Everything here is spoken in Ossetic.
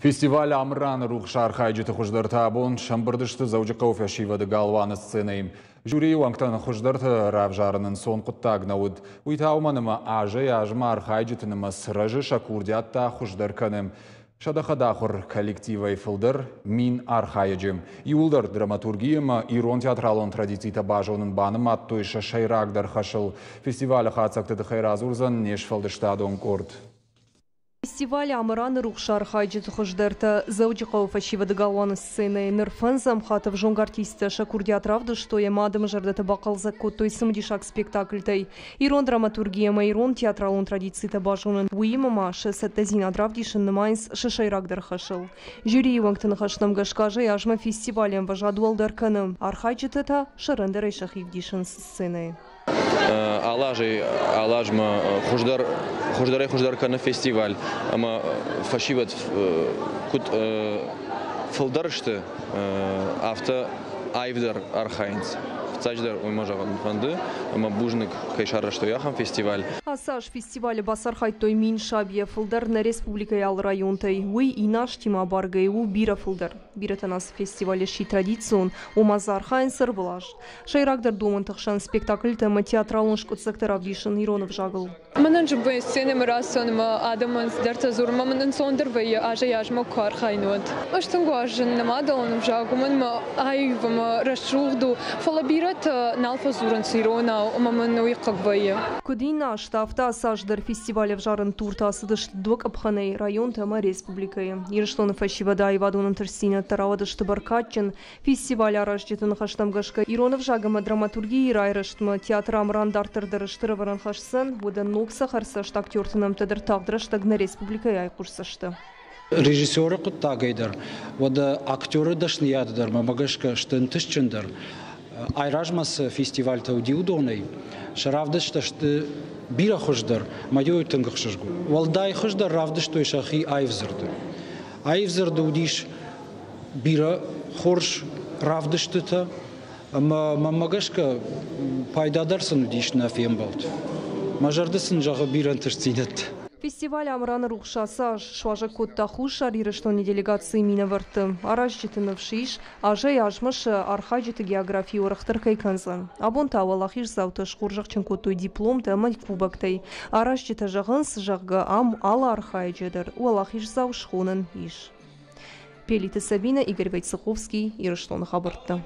Фестиваль Амыраны рухс архайджыты хуыздӕртӕ абон сӕмбырд сты Дзӕуджыхъӕуы фӕсивӕды галуаны сценӕйы. Жюрийы уӕнгтӕн хуыздӕрты равзарын ӕнцон хъуыддаг нӕ уыд. Уый та уымӕн ӕмӕ азӕй-азмӕ архайджыты нымӕц рӕзы, сӕ курдиат та хуыздӕр кӕны. Сӕдӕ хӕдахуыр коллективӕй фылдӕр 1000 архайӕджы. Иууылдӕр драматурги ӕмӕ ирон театралон традицитӕ базонын банымадтой сӕ сӕйрагдӕр хӕсыл. Фестивалы хатдзӕгты тыххӕй радзурдзӕн не сфӕлдыстадон къорд. Фестиваль Амыраны рухс архайджыты хуыздӕртӕ Дзӕуджыхъӕуы фӕсивӕды галуаны сценӕйы ныр фӕндзӕм хатт ӕвзонг артисттӕ сӕ курдиат равдыстой ӕмӕ адӕмы зӕрдӕтӕ бахъӕлдзӕг кодтой цымыдисаг спектакльтӕй. Ирон драматурги ӕмӕ ирон театралон традицитӕ базонын, уыимӕ ма сӕ цӕттӕдзинад равдисын нымайынц сӕ сӕйрагдӕр хӕсыл. Жюрийы уӕнгты ныхӕстӕм гӕсгӕ азӕй-азмӕ фестивалы ӕмвӕзад уӕлдӕр кӕны, архайджытӕ та сӕрӕндӕрӕй сӕхи вдисынц сценӕйы. Алы азӕй алы азмӕ хуыздӕр хуыздӕрӕй хуыздӕр кӕны фестиваль ӕмӕ фӕсивӕд куыд фылдӕр сты, афтӕ аивдӕр архайынц. Фыццаджыдӕр уый мӕ зӕгъын фӕнды, ӕмӕ бузныг, кӕй сарӕзтой ахӕм фестиваль. Ацы аз фестивалы бацархайдтой 1000 сабийӕ фылдӕр нӕ республикӕйы алы районтӕй. Уый иннӕ азтимӕ абаргӕйӕ у бирӕ фылдӕр. Бирӕтӕн ацы фестиваль сси традицион, ома дзы архайынц ӕрвылаз. Сӕйрагдӕр домӕнты хсӕн спектакльтӕ ӕмӕ театралон скъуыддзӕгтӕ равдисын ирон ӕвзагыл. Мӕнӕн зын вӕййы сценӕмӕ рацӕуын ӕмӕ адӕмӕн цыдӕртӕ дзурын ӕмӕ мын ӕнцондӕр вӕййы азӕй-азмӕ куы архайын, уӕд. Ӕз тынг уарзын нӕ мадӕлон ӕвзаг, уымӕн мӕ аив ӕмӕ рӕсугъд у, фӕлӕ бирӕтӕ нал фӕдзурынц иронау ӕмӕ мын уый хъыг вӕййы. Куыд иннӕ азты, афтӕ ацы аз дӕр фестиваль ӕвзарын туртӕ ацыдысты дыууӕ къӕпхӕнӕй районты ӕмӕ республикӕйы. Ирыстоны фӕсивӕды аивадон ӕнтыстдзинӕдтӕ рауадысты бӕркадджын. Фестиваль аразджыты ныхӕстӕм гӕсгӕ, ирон ӕвзаг ӕмӕ драматургийы райрӕзтмӕ театр Амыран дарддӕр дӕр стыр ӕвӕрӕн хӕсдзӕн, уӕдӕ ног цӕхӕрцӕст актерты нӕмттӕ дӕр тагъд рӕстӕг нӕ республикӕйы айхъуысдзысты. Режиссеры хъуыддагӕй дӕр, уӕдӕ актеры дӕсныйады дӕр мӕмӕ гӕсгӕ сты ӕнтыстджындӕр. Айразмӕ цы фестивальтӕ уыди, уыдонӕй сӕ равдысттӕ сты бирӕ хуыздӕр, мӕ тынг ӕхсызгон. Уӕлдай хуыздӕр равдыстой сӕхи аив дзырды. Аив дзырды уыдис бирӕ хорз равдыстытӕ ӕмӕ мӕнмӕ гӕсгӕ пайда дӕр сын уыдис нӕ фембӕлд. Мӕ зӕрдӕ сын зӕгъы бирӕ ӕнтыстдзинӕдтӕ. Фестиваль Амыраны рухс ацы аз суазӕг кодта Хуссар Ирыстоны делегацийы минӕвӕртты. Аразджыты ныфс ис, азӕй-азмӕ сӕ архайджыты географи уӕрӕхдӕр кӕй кӕндзӕн. Абон та уӕлахиздзаутӕ схорзӕхджын кодтой дипломтӕ ӕмӕ кубоктӕй. Аразджытӕ зӕгъынц, зӕгъгӕ, ам алы архайӕджы дӕр уӕлахиздзау схонӕн ис. Пелиты Сабина, Игорь Войцеховский, Ирыстоны хабӕрттӕ.